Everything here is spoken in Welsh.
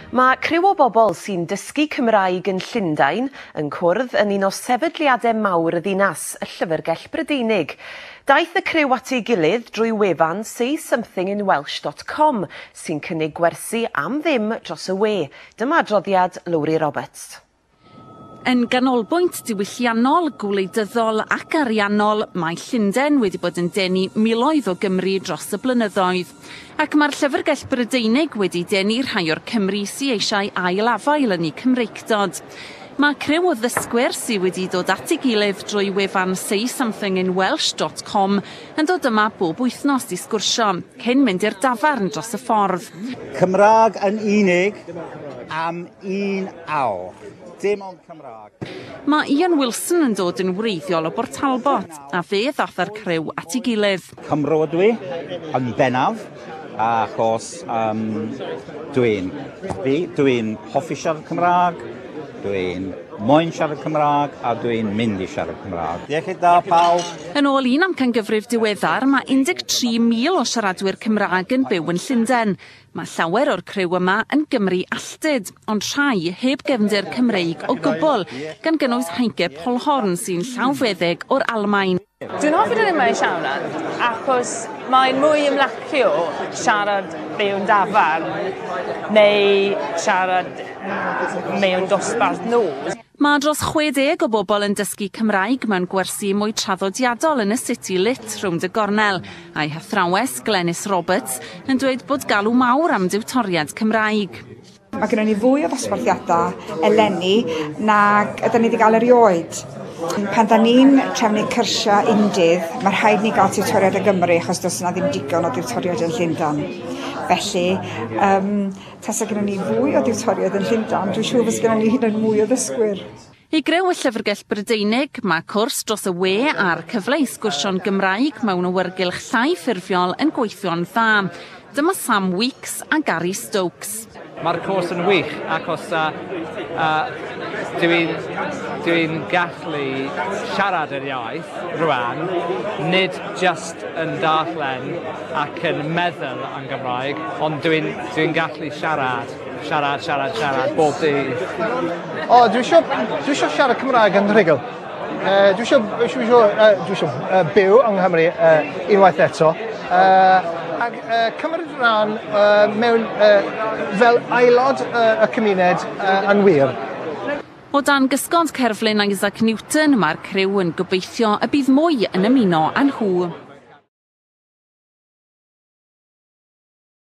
Mae criw o bobl sy'n dysgu Cymraeg yn Llundain yn cwrdd yn un o sefydliadau mawr y ddinas, y Llyfrgell Brydeinig. Daeth y criw at ei gilydd drwy wefan saysomethingинwelsh.com sy'n cynnig gwersi am ddim dros y we. Dyma adroddiad Lowri Roberts. Yn ganolbwynt diwylliannol, gwleidyddol ac ariannol, mae Llundain wedi bod yn denu miloedd o Gymry dros y blynyddoedd. Ac mae'r Llyfrgell Brydeinig wedi denu rhai o'r Cymry sy eisiau ail-afael yn eu Cymreictod. Mae criw o ddysgwyr sydd wedi dod at ei gilydd drwy wefan saysomethingинwelsh.com yn dod yma bob wythnos i sgwrsio, cyn mynd i'r dafarn dros y ffordd. Cymraeg yn unig am un awr. Dim ond Cymraeg. Mae Ian Wilson yn dod yn wreiddiol o Bort Talbot, a fe ddath â'r criw at ei gilydd. Cymro ydw i, yn bennaf, achos dwi'n fi, dwi'n hoffi siarad Cymraeg, dwi'n moyn siarad Cymraeg a dwi'n mynd i siarad Cymraeg. Iechyd da pawb! Yn ôl un amcangyfrif diweddar, mae 13,000 o siaradwyr Cymraeg yn byw yn Llundain. Mae llawer o'r criw yma yn Gymry alltud, ond rhai heb gefndir Cymreig o gwbl, gan gynnwys Heinke Polhorn sy'n llawfeddyg o'r Almaen. Dwi'n hoffi dod yma i siarad achos mae'n mwy ymlacio siarad mewn dafarn neu siarad mewn dosbarth nos. Mae dros 60 o bobl yn dysgu Cymraeg mewn gwersi mwy traddodiadol yn y City Lit rownd y gornel, a'i hathrawes Glenys Roberts yn dweud bod galw mawr am diwtoriad Cymraeg. Mae gennym ni fwy o ddosbarthiadau eleni nag ydyn ni wedi cael erioed. Pan da ni'n trefnu cyrsiau undydd, mae rhaid ni gael tiwtoriad o Gymru achos does yna ddim digon o diwtoriad yn Llundain. Felly, tasa gennym ni fwy o diwtoriad yn Llundain, dwi'n siŵr fysa gennym ni hyd yn oed mwy o ddysgwyr. I greu y Llyfrgell Brydeinig, mae cwrs dros y we a'r cyfle i sgwrsio'n Gymraeg mewn awyrgylch llai ffurfiol yn gweithio'n dda. Dyma Sam Weeks a Gary Stokes. Mae'r cwrs yn wych achos dwi'n dwi gallu siarad yr iaith rwan, nid just yn darllen ac yn meddwl yn Gymraeg, ond dwi'n dwi gallu siarad, siarad, siarad, siarad bob dydd. O, dwi eisiau siarad Cymraeg yn rhugl. Dwi eisiau byw yng Nghymru unwaith eto. Ac cymryd rhan mewn fel aelod y cymuned yn wir. O dan gysgod cerflun Isaac Newton, mae'r criw yn gobeithio y bydd mwy yn ymuno â nhw.